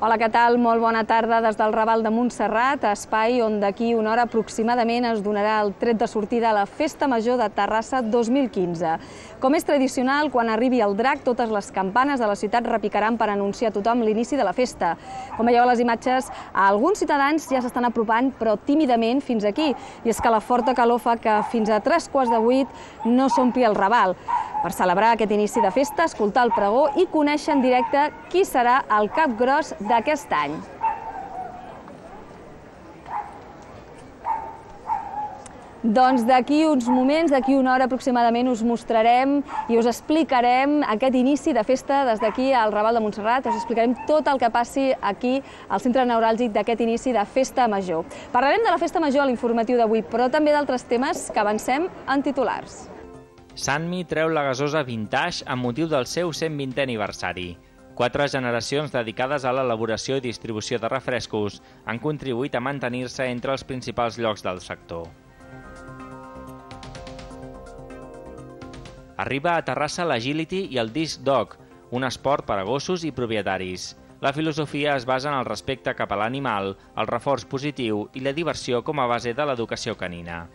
Hola, què tal? Molt bona tarda des del Raval de Montserrat, espai on d'aquí una hora aproximadament es donarà el tret de sortida a la Festa Major de Terrassa 2015. Com és tradicional, quan arribi el drac, totes les campanes de la ciutat repicaran per anunciar a tothom l'inici de la festa. Com veieu a les imatges, alguns ciutadans ja s'estan apropant, però tímidament, fins aquí. I és que la forta calor fa que fins a 7:45 no s'ompli el Raval. Per celebrar aquest inici de festa, escoltar el pregó i conèixer en directe qui serà el cap gros d'aquest any. Doncs d'aquí uns moments, d'aquí una hora aproximadament, us mostrarem i us explicarem aquest inici de festa des d'aquí al Raval de Montserrat. Us explicarem tot el que passi aquí al centre neuràlgic d'aquest inici de Festa Major. Parlarem de la Festa Major a l'informatiu d'avui, però també d'altres temes que avancem en titulars. Sanmi treu la gasosa Vintage amb motiu del seu 120è aniversari. 4 generacions dedicades a l'elaboració i distribució de refrescos han contribuït a mantenir-se entre els principals llocs del sector. Arriba a Terrassa l'Agility i el Disc Dog, un esport per a gossos i propietaris. La filosofia es basa en el respecte cap a l'animal, el reforç positiu i la diversió com a base de l'educació canina.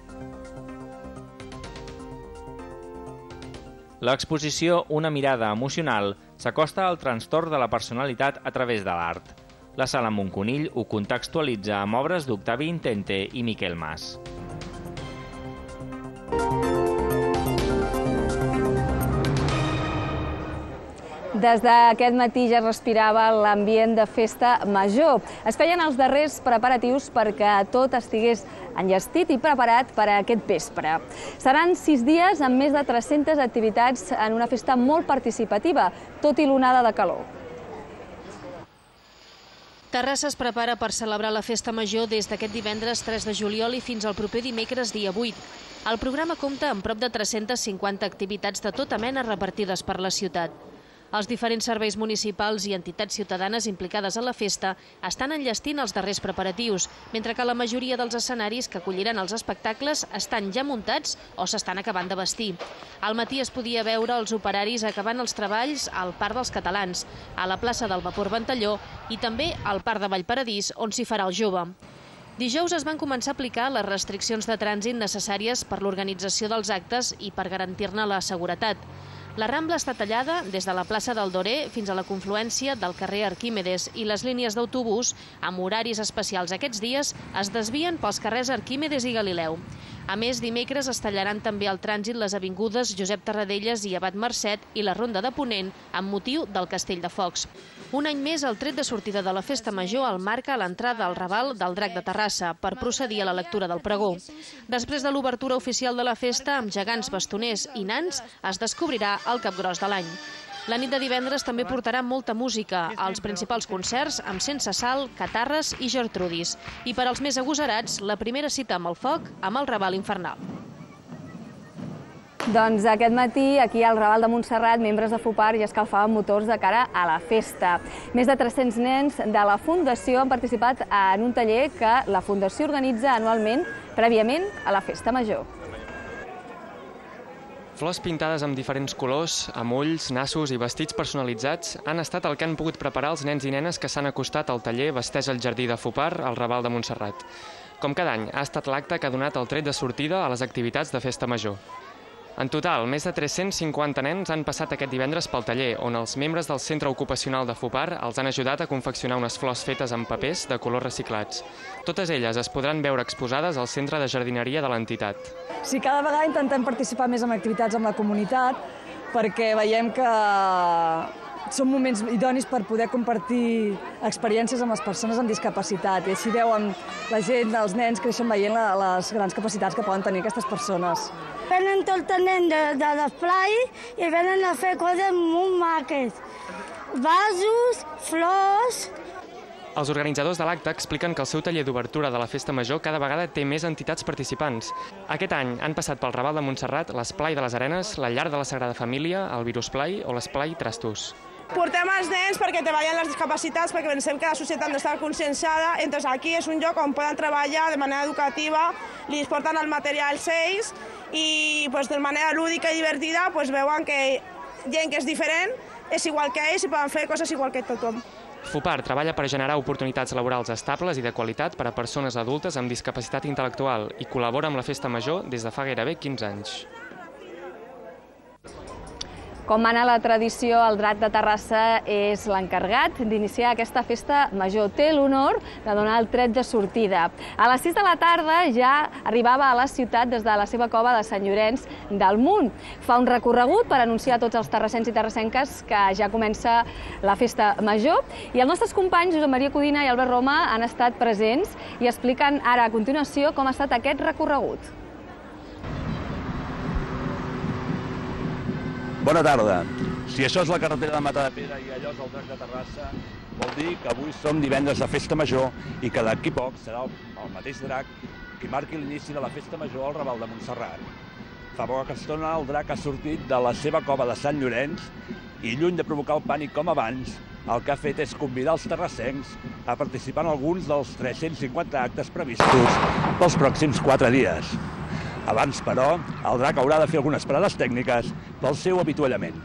L'exposició Una mirada emocional s'acosta al trastorn de la personalitat a través de l'art. La Sala Montconill ho contextualitza amb obres d'Octavi Intente i Miquel Mas. Des d'aquest matí ja es respirava l'ambient de festa major. Es feien els darrers preparatius perquè tot estigués enllestit i preparat per a aquest vespre. Seran 6 dies amb més de 300 activitats en una festa molt participativa, tot i l'onada de calor. Terrassa es prepara per celebrar la Festa Major des d'aquest divendres 3 de juliol i fins al proper dimecres dia 8. El programa compta amb prop de 350 activitats de tota mena repartides per la ciutat. Els diferents serveis municipals i entitats ciutadanes implicades a la festa estan enllestint els darrers preparatius, mentre que la majoria dels escenaris que acolliran els espectacles estan ja muntats o s'estan acabant de vestir. Al matí es podia veure els operaris acabant els treballs al Parc dels Catalans, a la plaça del Vapor Ventalló i també al Parc de Vallparadís, on s'hi farà el Jove. Dijous es van començar a aplicar les restriccions de trànsit necessàries per l'organització dels actes i per garantir-ne la seguretat. La Rambla està tallada des de la plaça del Dorer fins a la confluència del carrer Arquímedes i les línies d'autobús, amb horaris especials aquests dies, es desvien pels carrers Arquímedes i Galileu. A més, dimecres es tallaran també al trànsit les avingudes Josep Tarradellas i Abat Mercet i la Ronda de Ponent amb motiu del Castell de Focs. Un any més, el tret de sortida de la Festa Major el marca a l'entrada al Raval del Drac de Terrassa per procedir a la lectura del pregó. Després de l'obertura oficial de la festa, amb gegants, bastoners i nans, es descobrirà el capgros de l'any. La nit de divendres també portarà molta música, als principals concerts amb Sense Sal, Catarres i Gertrudis. I per als més agosarats, la primera cita amb el foc, amb el Raval Infernal. Doncs aquest matí, aquí al Raval de Montserrat, membres de FUPAR ja escalfaven motors de cara a la festa. Més de 300 nens de la Fundació han participat en un taller que la Fundació organitza anualment, prèviament a la Festa Major. Flors pintades amb diferents colors, amb ulls, nassos i vestits personalitzats han estat el que han pogut preparar els nens i nenes que s'han acostat al taller Vesteix el Jardí de FUPAR al Raval de Montserrat. Com cada any, ha estat l'acte que ha donat el tret de sortida a les activitats de Festa Major. En total, més de 350 nens han passat aquest divendres pel taller, on els membres del Centre Ocupacional de FUPAR els han ajudat a confeccionar unes flors fetes amb papers de colors reciclats. Totes elles es podran veure exposades al centre de jardineria de l'entitat. Sí, cada vegada intentem participar més en activitats amb la comunitat perquè veiem que són moments idonis per poder compartir experiències amb les persones amb discapacitat i així veuen la gent, els nens creixen veient les grans capacitats que poden tenir aquestes persones. Venen tot el nen de l'esplai i venen a fer coses molt maques. Vasos, flors. Els organitzadors de l'acte expliquen que el seu taller d'obertura de la Festa Major cada vegada té més entitats participants. Aquest any han passat pel Raval de Montserrat l'Esplai de les Arenes, la Llar de la Sagrada Família, el Virusplai o l'Esplai Trastos. Portem els nens perquè treballen les discapacitats, perquè pensem que la societat no està conscienciada, entonces aquí és un lloc on poden treballar de manera educativa, li porten el material ells i de manera lúdica i divertida veuen que gent que és diferent és igual que ells i poden fer coses igual que tothom. FUPAR treballa per generar oportunitats laborals estables i de qualitat per a persones adultes amb discapacitat intel·lectual i col·labora amb la Festa Major des de fa gairebé 15 anys. Com mana la tradició, el Drac de Terrassa és l'encarregat d'iniciar aquesta festa major. Té l'honor de donar el tret de sortida. A les 6 de la tarda ja arribava a la ciutat des de la seva cova de Sant Llorenç del Munt. Fa un recorregut per anunciar a tots els terrassens i terrassenques que ja comença la festa major. I els nostres companys, Josep Maria Codina i Albert Roma, han estat presents i expliquen ara a continuació com ha estat aquest recorregut. Bona tarda. Si això és la carretera de Matadepera i allò és el Drac de Terrassa, vol dir que avui som divendres de Festa Major i que d'aquí poc serà el mateix Drac qui marqui l'inici de la Festa Major al Raval de Montserrat. Fa poca estona el Drac ha sortit de la seva cova de Sant Llorenç i, lluny de provocar el pànic com abans, el que ha fet és convidar els terrassencs a participar en alguns dels 350 actes previstos pels pròxims 4 dies. Abans, però, el Drac haurà de fer algunes parades tècniques pel seu avituallament.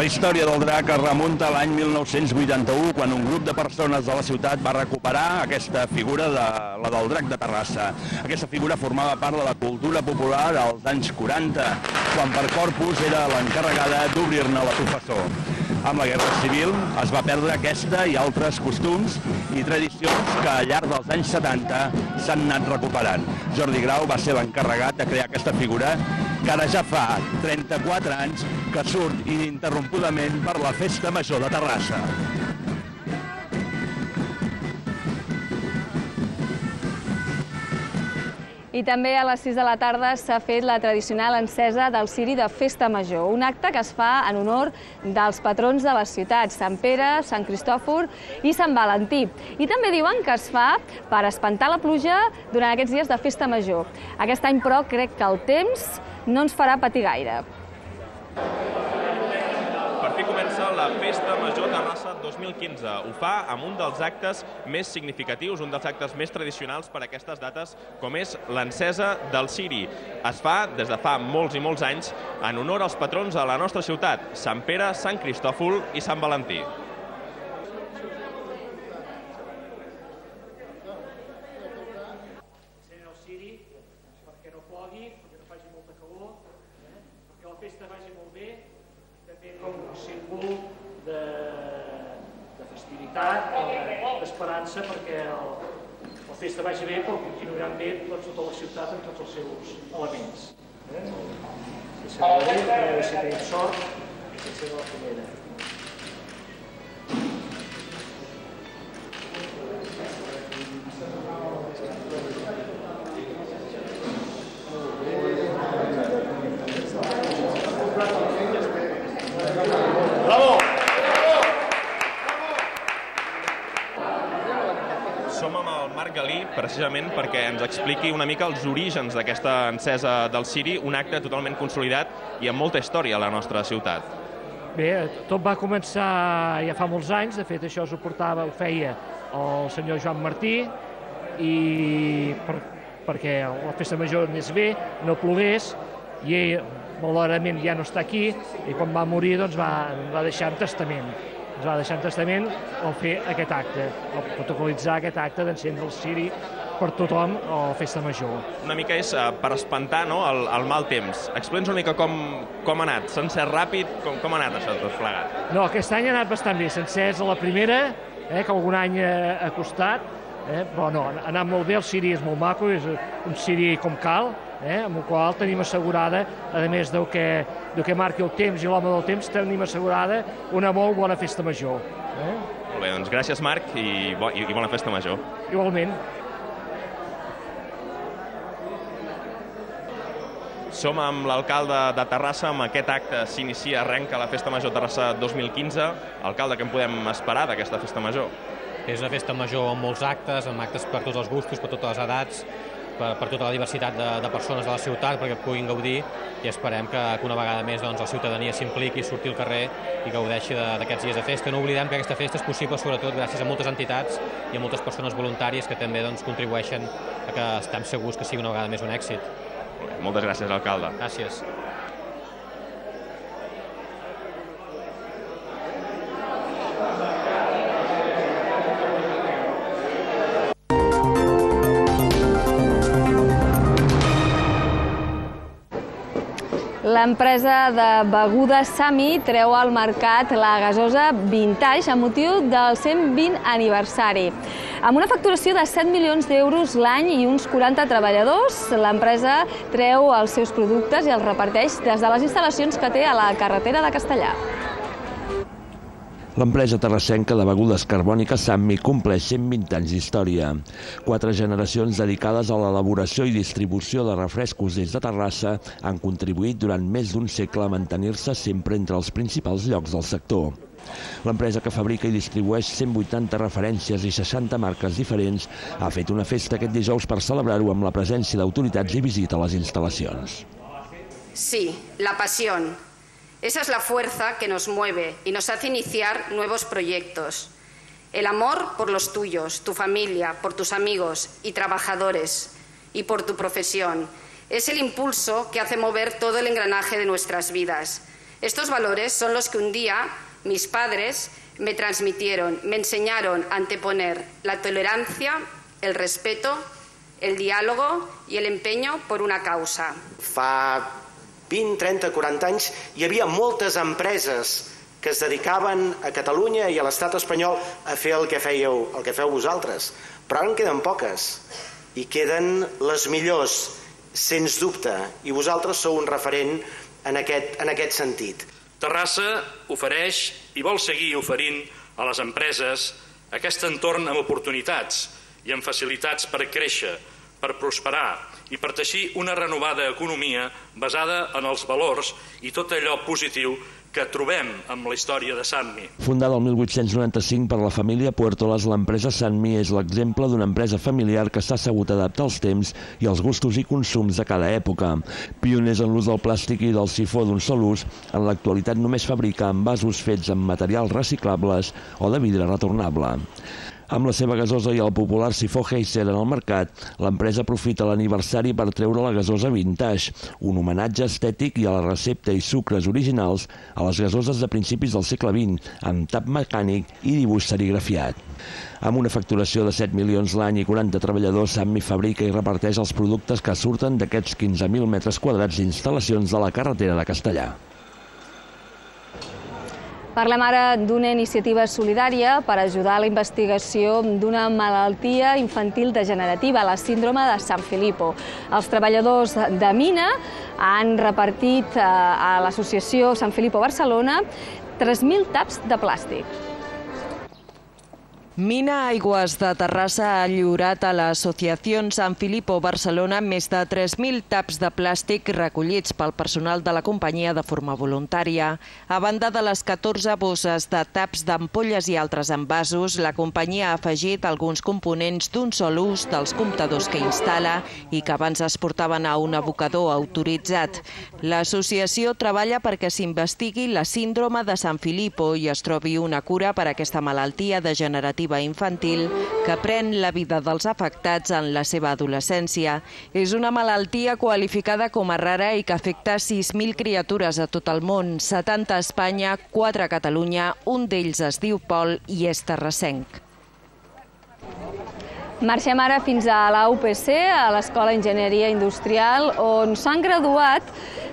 La història del Drac es remunta a l'any 1981, quan un grup de persones de la ciutat va recuperar aquesta figura, la del Drac de Terrassa. Aquesta figura formava part de la cultura popular als anys 40, quan per Corpus era l'encarregada d'obrir-ne la professor. Amb la Guerra Civil es va perdre aquesta i altres costums i tradicions que al llarg dels anys 70 s'han anat recuperant. Jordi Grau va ser l'encarregat de crear aquesta figura que ara ja fa 34 anys que surt ininterrompudament per la Festa Major de Terrassa. I també a les 6 de la tarda s'ha fet la tradicional encesa del ciri de Festa Major, un acte que es fa en honor dels patrons de les ciutats, Sant Pere, Sant Cristòfor i Sant Valentí. I també diuen que es fa per espantar la pluja durant aquests dies de Festa Major. Aquest any, però, crec que el temps no ens farà patir gaire. Per fi comença la Festa Major Terrassa 2015. Ho fa amb un dels actes més significatius, un dels actes més tradicionals per a aquestes dates, com és l'encesa del ciri. Es fa des de fa molts i molts anys en honor als patrons de la nostra ciutat, Sant Pere, Sant Cristòfol i Sant Valentí. Perquè no plogui, perquè no faci molta calor, perquè la festa vagi molt bé, també com un símbol de festivitat, d'esperança, perquè la festa vagi bé, però continuaran bé tota la ciutat amb tots els seus elements. Si tenim sort, que serà la primera. Som amb el Marc Galí precisament perquè ens expliqui una mica els orígens d'aquesta encesa del ciri, un acte totalment consolidat i amb molta història a la nostra ciutat. Bé, tot va començar ja fa molts anys, de fet això ho feia el senyor Joan Martí, i perquè la festa major anés bé, no plogués, i ell malauradament ja no està aquí, i quan va morir doncs va deixar en testament. Ens va deixar en testament el fer aquest acte, el protocolitzar aquest acte d'encendre el ciri per tothom a la festa major. Una mica és per espantar el mal temps. Explica'ns una mica com ha anat. S'ha encès ràpid? Com ha anat això tot plegat? No, aquest any ha anat bastant bé. S'ha encès a la primera, que algun any ha costat, però no, ha anat molt bé. El ciri és molt maco, és un ciri com cal, amb el qual tenim assegurada, a més del que marqui el temps i l'home del temps, tenim assegurada una molt bona festa major. Molt bé, doncs gràcies, Marc, i bona festa major. Igualment. Som amb l'alcalde de Terrassa, amb aquest acte s'inicia, arrenca la Festa Major Terrassa 2015. Alcalde, què en podem esperar d'aquesta Festa Major? És una festa major amb molts actes, amb actes per tots els gustos, per totes les edats, per tota la diversitat de persones de la ciutat, perquè puguin gaudir, i esperem que una vegada més la ciutadania s'impliqui, surti al carrer i gaudeixi d'aquests dies de festa. No oblidem que aquesta festa és possible sobretot gràcies a moltes entitats i a moltes persones voluntàries que també contribueixen a que estem segurs que sigui una vegada més un èxit. Moltes gràcies, alcalde. Gràcies. L'empresa de begudes Sami treu al mercat la gasosa Vintage amb motiu del 120 aniversari. Amb una facturació de 7 milions d'euros l'any i uns 40 treballadors, l'empresa treu els seus productes i els reparteix des de les instal·lacions que té a la carretera de Castellar. L'empresa terrassenca de begudes carbòniques Sami compleix 120 anys d'història. 4 generacions dedicades a l'elaboració i distribució de refrescos des de Terrassa han contribuït durant més d'un segle a mantenir-se sempre entre els principals llocs del sector. L'empresa, que fabrica i distribueix 180 referències i 60 marques diferents, ha fet una festa aquest dijous per celebrar-ho amb la presència d'autoritats i visita a les instal·lacions. Sí, la pasión. Esa es la fuerza que nos mueve y nos hace iniciar nuevos proyectos. El amor por los tuyos, tu familia, por tus amigos y trabajadores y por tu profesión. Es el impulso que hace mover todo el engranaje de nuestras vidas. Estos valores son los que un día mis padres me transmitieron, me enseñaron a anteponer la tolerancia, el respeto, el diálogo y el empeño por una causa. Fa 20, 30, 40 anys hi havia moltes empreses que es dedicaven a Catalunya i a l'estat espanyol a fer el que feu vosaltres, però ara en queden poques i queden les millors, sens dubte, i vosaltres sou un referent en aquest sentit. Terrassa ofereix i vol seguir oferint a les empreses aquest entorn amb oportunitats i amb facilitats per créixer, per prosperar i per teixir una renovada economia basada en els valors i tot allò positiu que trobem amb la història de Sami. Fundada el 1895 per la família Puertolas, l'empresa Sami és l'exemple d'una empresa familiar que s'ha sabut adaptar als temps i als gustos i consums de cada època. Pioners en l'ús del plàstic i del sifó d'un sol ús, en l'actualitat només fabrica envasos fets amb materials reciclables o de vidre retornable. Amb la seva gasosa i el popular sifó Heiser en el mercat, l'empresa aprofita l'aniversari per treure la gasosa Vintage, un homenatge estètic i a la recepta i sucres originals a les gasoses de principis del segle XX, amb tap mecànic i dibuix serigrafiat. Amb una facturació de 7 milions l'any i 40 treballadors, Sami fabrica i reparteix els productes que surten d'aquests 15.000 metres quadrats d'instal·lacions de la carretera de Castellar. Parlem ara d'una iniciativa solidària per ajudar a la investigació d'una malaltia infantil degenerativa, la síndrome de San Filippo. Els treballadors de Mina han repartit a l'associació San Filippo Barcelona 3.000 taps de plàstic. Mina Aigües de Terrassa ha lliurat a l'Associació San Filippo Barcelona més de 3.000 taps de plàstic recollits pel personal de la companyia de forma voluntària. A banda de les 14 bosses de taps d'ampolles i altres envasos, la companyia ha afegit alguns components d'un sol ús dels comptadors que instal·la i que abans es portaven a un abocador autoritzat. L'associació treballa perquè s'investigui la síndrome de San Filippo i es trobi una cura per a aquesta malaltia degenerativa infantil que pren la vida dels afectats en la seva adolescència. És una malaltia qualificada com a rara i que afecta 6.000 criatures a tot el món, 70 a Espanya, 4 a Catalunya, un d'ells es diu Pol i és terrassenc. Marxem ara fins a la UPC, a l'Escola d'Enginyeria Industrial, on s'han graduat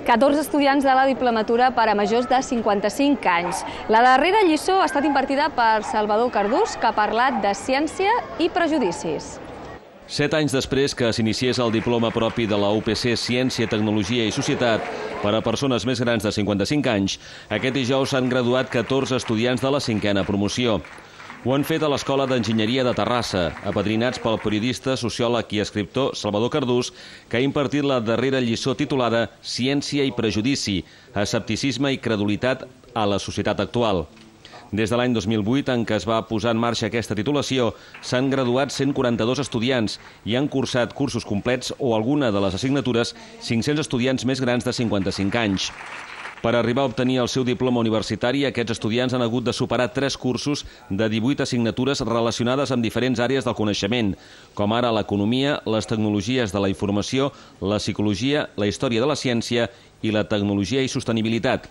14 estudiants de la diplomatura per a majors de 55 anys. La darrera lliçó ha estat impartida per Salvador Cardús, que ha parlat de ciència i prejudicis. 7 anys després que s'iniciés el diploma propi de la UPC Ciència, Tecnologia i Societat per a persones més grans de 55 anys, aquest dijous s'han graduat 14 estudiants de la 5a promoció. Ho han fet a l'Escola d'Enginyeria de Terrassa, apadrinats pel periodista, sociòleg i escriptor Salvador Cardús, que ha impartit la darrera lliçó titulada Ciència i prejudici, escepticisme i credulitat a la societat actual. Des de l'any 2008, en què es va posar en marxa aquesta titulació, s'han graduat 142 estudiants i han cursat cursos complets o alguna de les assignatures 500 estudiants més grans de 55 anys. Per arribar a obtenir el seu diploma universitari, aquests estudiants han hagut de superar 3 cursos de 18 assignatures relacionades amb diferents àrees del coneixement, com ara l'economia, les tecnologies de la informació, la psicologia, la història de la ciència i la tecnologia i sostenibilitat.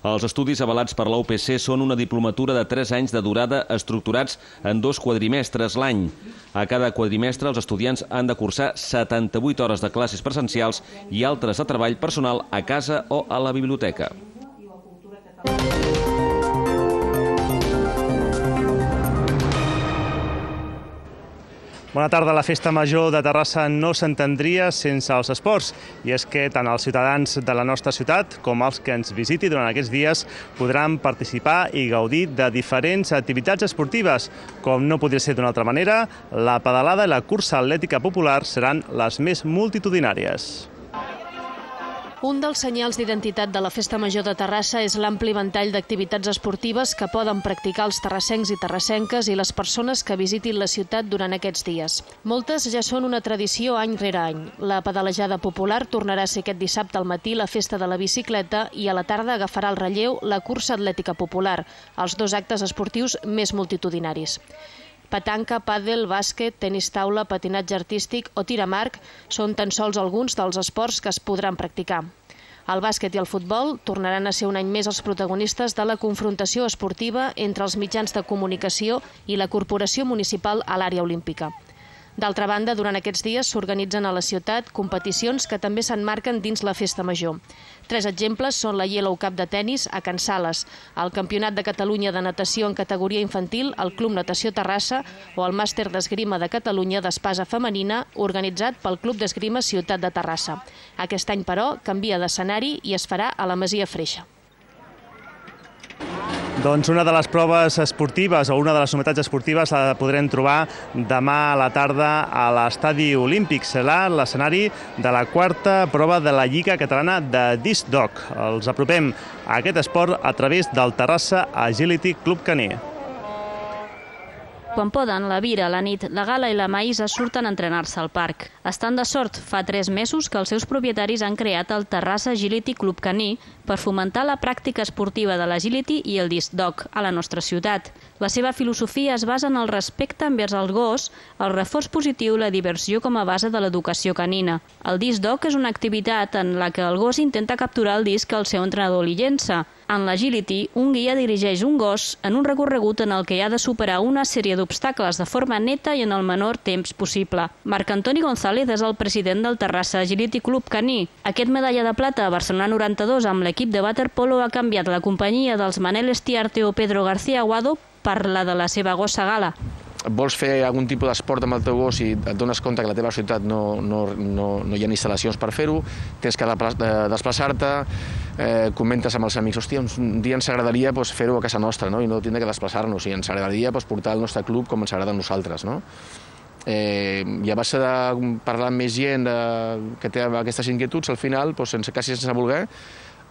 Els estudis avalats per la UPC són una diplomatura de 3 anys de durada estructurats en 2 quadrimestres l'any. A cada quadrimestre els estudiants han de cursar 78 hores de classes presencials i altres de treball personal a casa o a la biblioteca. Bona tarda. La Festa Major de Terrassa no s'entendria sense els esports. I és que tant els ciutadans de la nostra ciutat com els que ens visiti durant aquests dies podran participar i gaudir de diferents activitats esportives. Com no podria ser d'una altra manera, la pedalada i la cursa atlètica popular seran les més multitudinàries. Un dels senyals d'identitat de la Festa Major de Terrassa és l'ampli ventall d'activitats esportives que poden practicar els terrassencs i terrassenques i les persones que visitin la ciutat durant aquests dies. Moltes ja són una tradició any rere any. La pedalejada popular tornarà a ser aquest dissabte al matí la Festa de la Bicicleta i a la tarda agafarà el relleu la cursa atlètica popular, els 2 actes esportius més multitudinaris. Petanca, pàdel, bàsquet, tenis taula, patinatge artístic o tir amb arc són tan sols alguns dels esports que es podran practicar. El bàsquet i el futbol tornaran a ser un any més els protagonistes de la confrontació esportiva entre els mitjans de comunicació i la Corporació Municipal a l'àrea olímpica. D'altra banda, durant aquests dies s'organitzen a la ciutat competicions que també s'emmarquen dins la Festa Major. 3 exemples són la Yellow Cup de tennis a Can Sales, el Campionat de Catalunya de natació en categoria infantil al Club Natació Terrassa o el Màster d'Esgrima de Catalunya d'espasa femenina organitzat pel Club d'Esgrima Ciutat de Terrassa. Aquest any, però, canvia d'escenari i es farà a la Masia Freixa. Doncs una de les proves esportives o una de les novetats esportives la podrem trobar demà a la tarda a l'Estadi Olímpic. Serà l'escenari de la 4a prova de la Lliga Catalana de Disc Dog. Els apropem a aquest esport a través del Terrassa Agility Club Caní. Quan poden, la Vira, la Nit, la Gala i la Maïsa surten a entrenar-se al parc. Estan de sort, fa 3 mesos que els seus propietaris han creat el Terrassa Agility Club Caní per fomentar la pràctica esportiva de l'agility i el disc dog a la nostra ciutat. La seva filosofia es basa en el respecte envers el gos, el reforç positiu i la diversió com a base de l'educació canina. El disc dog és una activitat en la que el gos intenta capturar el disc que el seu entrenador li llença. En l'agility, un guia dirigeix un gos en un recorregut en el que ha de superar una sèrie d'obstacles de forma neta i en el menor temps possible. Marc Antoni González és el president del Terrassa Agility Club Caní. Aquest medalla de plata a Barcelona 92 amb l'equip de waterpolo ha canviat la companyia dels Manel Estiarte o Pedro García Aguado per la de la seva gossa Gala. Vols fer algun tipus d'esport amb el teu gos i et dones compte que a la teva ciutat no hi ha instal·lacions per fer-ho, tens que desplaçar-te, comentes amb els amics, hòstia, un dia ens agradaria fer-ho a casa nostra i no tindre que desplaçar-nos, i ens agradaria portar el nostre club com ens agrada a nosaltres. I a base de parlar amb més gent que té aquestes inquietuds, al final, quasi sense voler,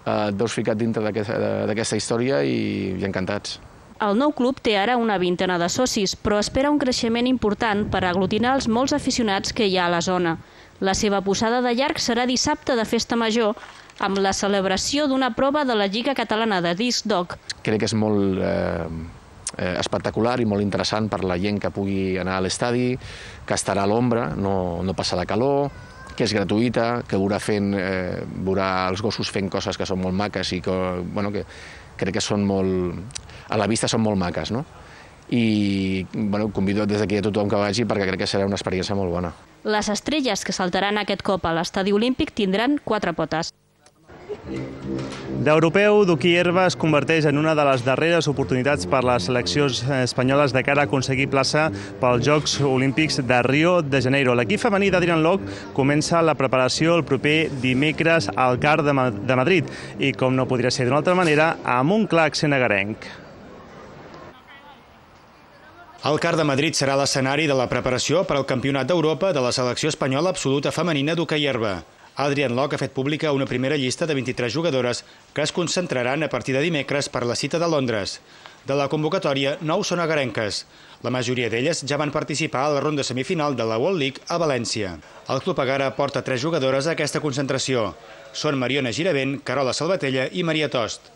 et veus ficat dintre d'aquesta història i encantats. El nou club té ara una 20ena de socis, però espera un creixement important per aglutinar els molts aficionats que hi ha a la zona. La seva posada de llarg serà dissabte de Festa Major, amb la celebració d'una prova de la Lliga Catalana de Disc Dog. Crec que és molt espectacular i molt interessant per la gent que pugui anar a l'estadi, que estarà a l'ombra, no passarà calor, que és gratuïta, que veurà els gossos fent coses que són molt maques i que crec que són molt... a la vista són molt maques, no? i convido des d'aquí a tothom que vagi perquè crec que serà una experiència molt bona. Les estrelles que saltaran aquest cop a l'estadi olímpic tindran 4 potes. D'europeu, d'hoquei herba es converteix en una de les darreres oportunitats per les seleccions espanyoles de cara a aconseguir plaça pels Jocs Olímpics de Rio de Janeiro. L'equip femení d'Adrian Lok comença la preparació el proper dimecres al CAR de Madrid i, com no podria ser d'una altra manera, amb un clar accent agarenc. El CAR de Madrid serà l'escenari de la preparació per al Campionat d'Europa de la selecció espanyola absoluta femenina d'hoquei herba. Adrian Lok ha fet pública una primera llista de 23 jugadores que es concentraran a partir de dimecres per la cita de Londres. De la convocatòria, 9 són agarenques. La majoria d'elles ja van participar a la ronda semifinal de la World League a València. El Club Agara porta 3 jugadores a aquesta concentració. Són Mariona Giravent, Carola Salvatella i Maria Tost.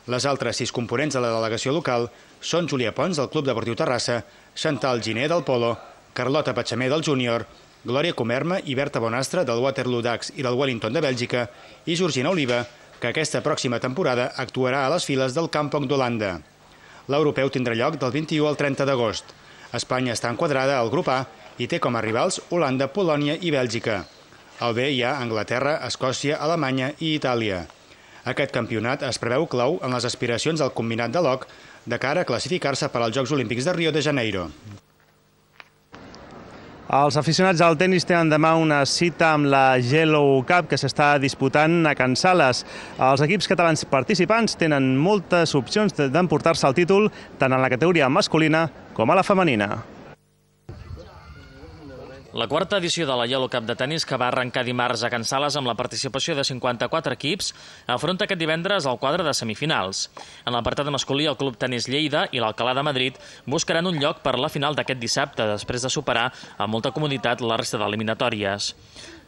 Les altres 6 components de la delegació local són Júlia Pons, del Club Deportiu Terrassa, Chantal Giner, del Polo, Carlota Patxamer, del Júnior, Glòria Comerma i Berta Bonastre, del Waterloo Ducks i del Wellington de Bèlgica, i Georgina Oliva, que aquesta pròxima temporada actuarà a les files del Kampong d'Holanda. L'europeu tindrà lloc del 21 al 30 d'agost. Espanya està enquadrada al grup A i té com a rivals Holanda, Polònia i Bèlgica. Al B hi ha Anglaterra, Escòcia, Alemanya i Itàlia. Aquest campionat es preveu clau en les aspiracions del combinat de Lok de cara a classificar-se per als Jocs Olímpics de Rio de Janeiro. Els aficionats al tennis tenen demà una cita amb la Yellow Cup que s'està disputant a Can Sales. Els equips catalans participants tenen moltes opcions d'emportar-se el títol tant en la categoria masculina com a la femenina. La quarta edició de la Yellow Cup de tennis, que va arrencar dimarts a Can Sales amb la participació de 54 equips, afronta aquest divendres el quadre de semifinals. En l'apartat masculí, el Club Tenis Lleida i l'Alcalá de Madrid buscaran un lloc per la final d'aquest dissabte, després de superar amb molta comoditat la resta d'eliminatòries.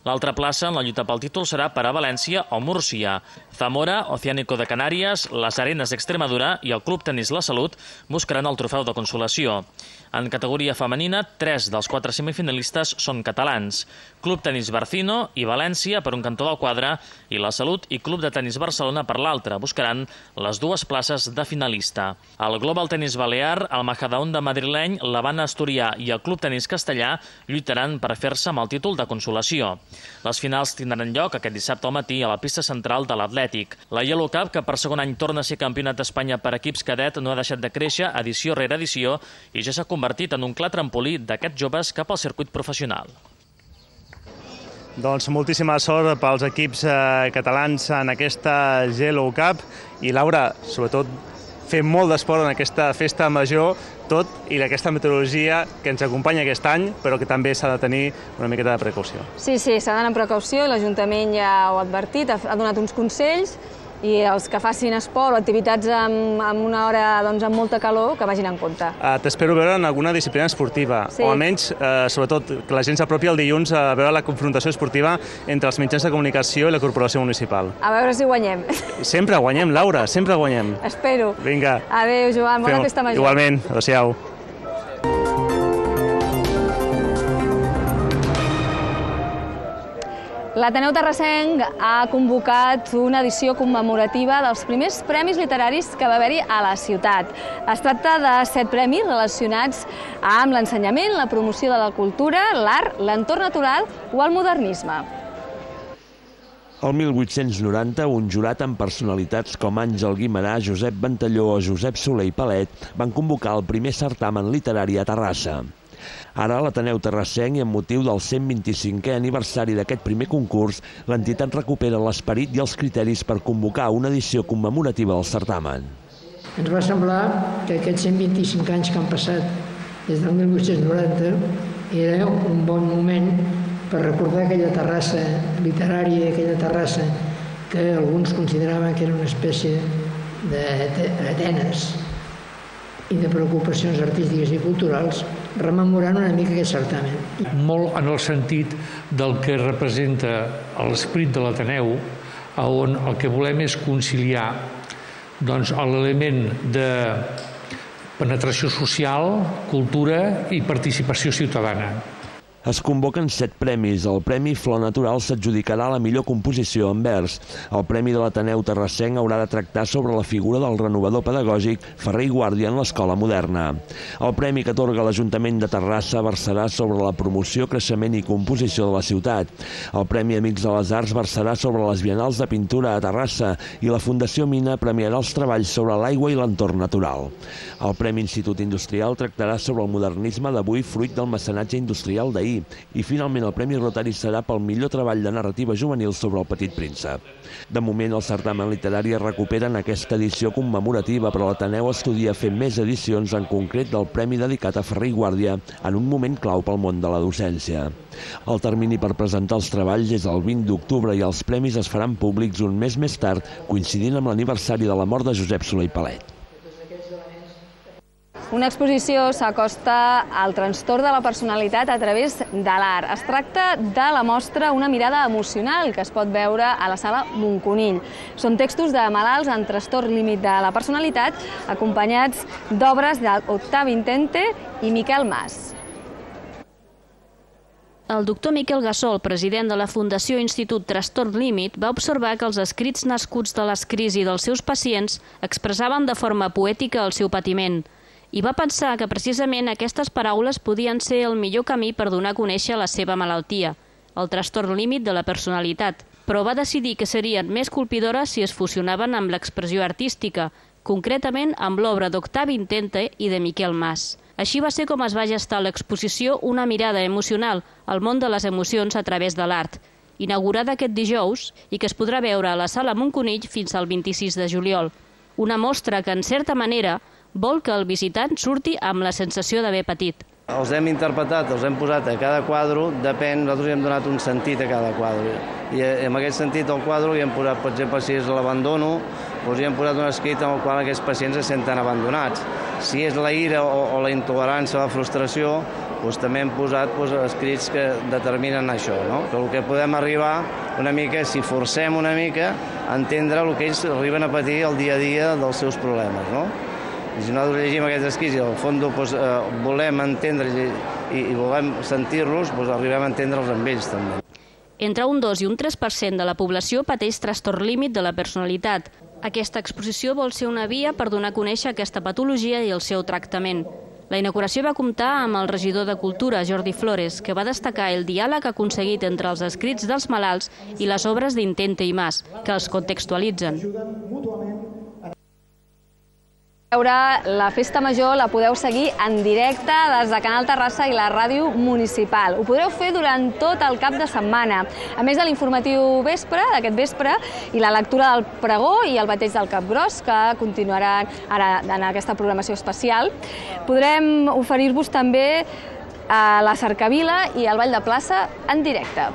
L'altra plaça en la lluita pel títol serà per a València o Múrcia. Zamora, Oceánico de Canàries, les Arenas d'Extremadura i el Club Tenis La Salut buscaran el trofeu de consolació. En categoria femenina, 3 dels 4 semifinalistes són catalans. Club Tenis Barcino i València per un cantó del quadre i La Salut i Club de Tenis Barcelona per l'altre. Buscaran les 2 places de finalista. El Global Tenis Balear, el Majadahonda madrileny, l'Havana Asturià i el Club Tenis Castellà lluitaran per fer-se amb el títol de consolació. Les finals tindran lloc aquest dissabte al matí a la pista central de l'Atlètic. La Yellow Cup, que per segon any torna a ser campionat d'Espanya per equips cadet, no ha deixat de créixer edició rere edició i ja s'ha convertit en un clar trampolí d'aquests joves cap al circuit professional. Doncs moltíssima sort pels equips catalans en aquesta Yellow Cup i, Laura, sobretot fer molt d'esport en aquesta festa major, tot i d'aquesta meteorologia que ens acompanya aquest any, però que també s'ha de tenir una miqueta de precaució. Sí, s'ha d'anar amb precaució, l'Ajuntament ja ho ha advertit, ha donat uns consells, i els que facin esport o activitats en una hora amb molta calor, que vagin en compte. T'espero veure en alguna disciplina esportiva, o almenys, sobretot, que la gent s'apropi el dilluns a veure la confrontació esportiva entre els mitjans de comunicació i la corporació municipal. A veure si guanyem. Sempre guanyem, Laura, sempre guanyem. Espero. Vinga. Adéu, Joan, bona festa major. Igualment, adéu-siau. L'Ateneu Terrassenc ha convocat una edició commemorativa dels primers premis literaris que va haver-hi a la ciutat. Es tracta de 7 premis relacionats amb l'ensenyament, la promoció de la cultura, l'art, l'entorn natural o el modernisme. El 1890, un jurat amb personalitats com Àngel Guimerà, Josep Ventalló o Josep Soler i Palet van convocar el primer certamen literari a Terrassa. Ara, a l'Ateneu Terrassenc, i amb motiu del 125è aniversari d'aquest primer concurs, l'entitat recupera l'esperit i els criteris per convocar una edició commemorativa del certamen. Ens va semblar que aquests 125 anys que han passat des del 1890 era un bon moment per recordar aquella Terrassa literària, aquella Terrassa que alguns consideraven que era una espècie d'Atenes i de preocupacions artístiques i culturals, rememorant una mica aquest certamen. Molt en el sentit del que representa l'esperit de l'Ateneu, on el que volem és conciliar l'element de penetració social, cultura i participació ciutadana. Es convoquen 7 premis. El Premi Flor Natural s'adjudicarà la millor composició en vers. El Premi de l'Ateneu Terrassenc haurà de tractar sobre la figura del renovador pedagògic Ferrer i Guàrdia en l'escola moderna. El premi que atorga l'Ajuntament de Terrassa versarà sobre la promoció, creixement i composició de la ciutat. El Premi Amics de les Arts versarà sobre les biennals de pintura a Terrassa i la Fundació Mina premiarà els treballs sobre l'aigua i l'entorn natural. El Premi Institut Industrial tractarà sobre el modernisme d'avui fruit del mecenatge industrial d'ahir. I finalment el Premi Rotari serà pel millor treball de narrativa juvenil sobre el Petit Príncep. De moment el certamen literari es recupera en aquesta edició commemorativa, però l'Ateneu estudia fer més edicions, en concret del premi dedicat a Ferrer i Guàrdia, en un moment clau pel món de la docència. El termini per presentar els treballs és el 20 d'octubre i els premis es faran públics un mes més tard, coincidint amb l'aniversari de la mort de Josep Solé i Palet. Una exposició s'acosta al trastorn de la personalitat a través de l'art. Es tracta de la mostra Una mirada emocional, que es pot veure a la sala Monconill. Són textos de malalts en trastorn límit de la personalitat, acompanyats d'obres d'Octavi Intente i Miquel Mas. El doctor Miquel Gassol, president de la Fundació Institut Trastorn Límit, va observar que els escrits nascuts de les crisis dels seus pacients expressaven de forma poètica el seu patiment. I va pensar que precisament aquestes paraules podien ser el millor camí per donar a conèixer la seva malaltia, el trastorn límit de la personalitat, però va decidir que serien més colpidores si es fusionaven amb l'expressió artística, concretament amb l'obra d'Octavi Intente i de Miquel Mas. Així va ser com es va gestar l'exposició Una mirada emocional, al món de les emocions a través de l'art, inaugurada aquest dijous i que es podrà veure a la sala Monconill fins al 26 de juliol. Una mostra que, en certa manera, vol que el visitant surti amb la sensació d'haver patit. Els hem interpretat, els hem posat a cada quadre, depèn, nosaltres hi hem donat un sentit a cada quadre. I en aquest sentit al quadre hi hem posat, per exemple, si és l'abandono, doncs hi hem posat un escrit en el qual aquests pacients se senten abandonats. Si és la ira o la intolerància o la frustració, doncs també hem posat escrits que determinen això, no? Que el que podem arribar una mica, si forcem una mica, a entendre el que ells arriben a patir el dia a dia dels seus problemes, no? I si nosaltres llegim aquests escrits i al fons volem entendre i volem sentir-los, arribem a entendre'ls amb ells també. Entre un 2 i un 3% de la població pateix trastorn límit de la personalitat. Aquesta exposició vol ser una via per donar a conèixer aquesta patologia i el seu tractament. La inauguració va comptar amb el regidor de Cultura, Jordi Flores, que va destacar el diàleg aconseguit entre els escrits dels malalts i les obres d'Intente i Mas, que els contextualitzen. La Festa Major la podeu seguir en directe des de Canal Terrassa i la ràdio municipal. Ho podreu fer durant tot el cap de setmana. A més de l'informatiu d'aquest vespre, i la lectura del pregó i el bateig del Capgròs, que continuaran ara en aquesta programació especial, podrem oferir-vos també la cercavila i el ball de plaça en directe.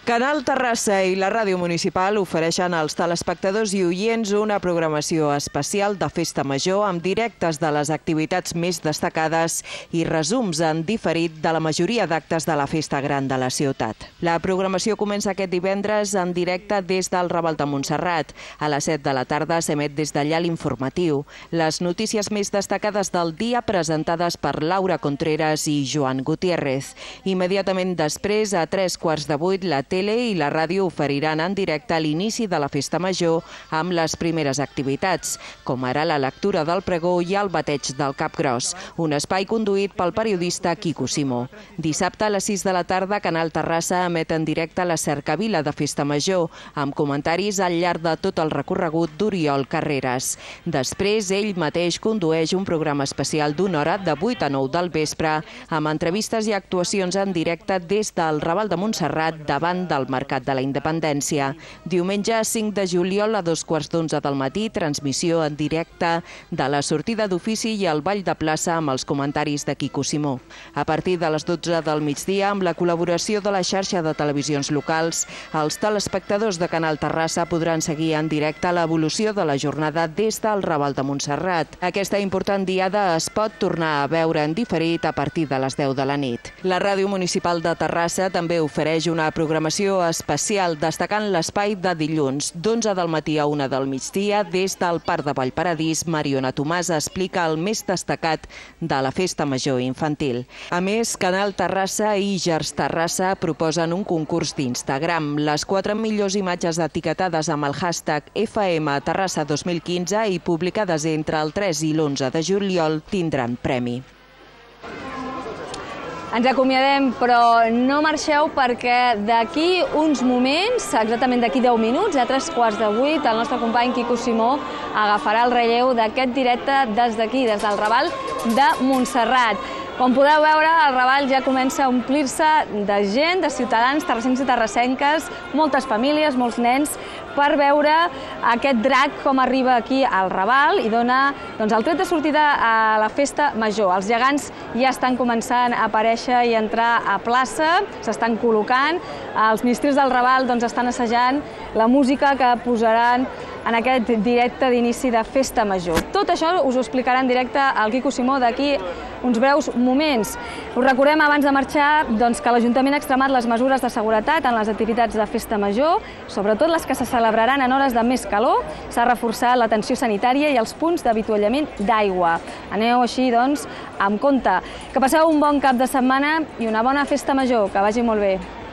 Canal Terrassa i la ràdio municipal ofereixen als telespectadors i oients una programació especial de Festa Major amb directes de les activitats més destacades i resums en diferit de la majoria d'actes de la Festa Gran de la ciutat. La programació comença aquest divendres en directe des del Raval de Montserrat. A les 7 de la tarda s'emet des d'allà l'informatiu. Les notícies més destacades del dia presentades per Laura Contreras i Joan Gutiérrez. Immediatament després, a 7:45, la tele i la ràdio oferiran en directe l'inici de la Festa Major amb les primeres activitats, com ara la lectura del pregó i el bateig del Capgròs, un espai conduït pel periodista Quico Simó. Dissabte a les 6 de la tarda, Canal Terrassa emet en directe la cercavila de Festa Major, amb comentaris al llarg de tot el recorregut d'Oriol Carreras. Després, ell mateix condueix un programa especial d'una hora de 8 a 9 del vespre, amb entrevistes i actuacions en directe des del Raval de Montserrat davant del Mercat de la Independència. Diumenge 5 de juliol a 2:15 del matí, transmissió en directe de la sortida d'ofici i el ball de plaça amb els comentaris de Quico Simó. A partir de les 12 del migdia, amb la col·laboració de la xarxa de televisions locals, els telespectadors de Canal Terrassa podran seguir en directe l'evolució de la jornada des del Raval de Montserrat. Aquesta important diada es pot tornar a veure en diferit a partir de les 10 de la nit. La ràdio municipal de Terrassa també ofereix una programació programació especial, destacant l'espai de dilluns, d'11 del matí a 1 del migdia, des del Parc de Vallparadís. Mariona Tomàs explica el més destacat de la Festa Major infantil. A més, Canal Terrassa i Gers Terrassa proposen un concurs d'Instagram. Les 4 millors imatges etiquetades amb el hashtag FM Terrassa 2015 i publicades entre el 3 i l'11 de juliol tindran premi. Ens acomiadem, però no marxeu perquè d'aquí uns moments, exactament d'aquí 10 minuts, a 7:15, el nostre company Quico Simó agafarà el relleu d'aquest directe des d'aquí, des del Raval de Montserrat. Com podeu veure, el Raval ja comença a omplir-se de gent, de ciutadans, terrassencs i terrassenques, moltes famílies, molts nens, per veure aquest drac com arriba aquí al Raval i dona el tret de sortida a la Festa Major. Els gegants ja estan començant a aparèixer i a entrar a plaça, s'estan col·locant, els ministres del Raval estan assajant la música que posaran en aquest directe d'inici de Festa Major. Tot això us ho explicarà en directe el Quico Simó d'aquí uns breus moments. Us recordem abans de marxar que l'Ajuntament ha extremat les mesures de seguretat en les activitats de Festa Major, sobretot les que se celebraran en hores de més calor. S'ha reforçat l'atenció sanitària i els punts d'avituallament d'aigua. Aneu així, amb compte. Que passeu un bon cap de setmana i una bona Festa Major. Que vagi molt bé.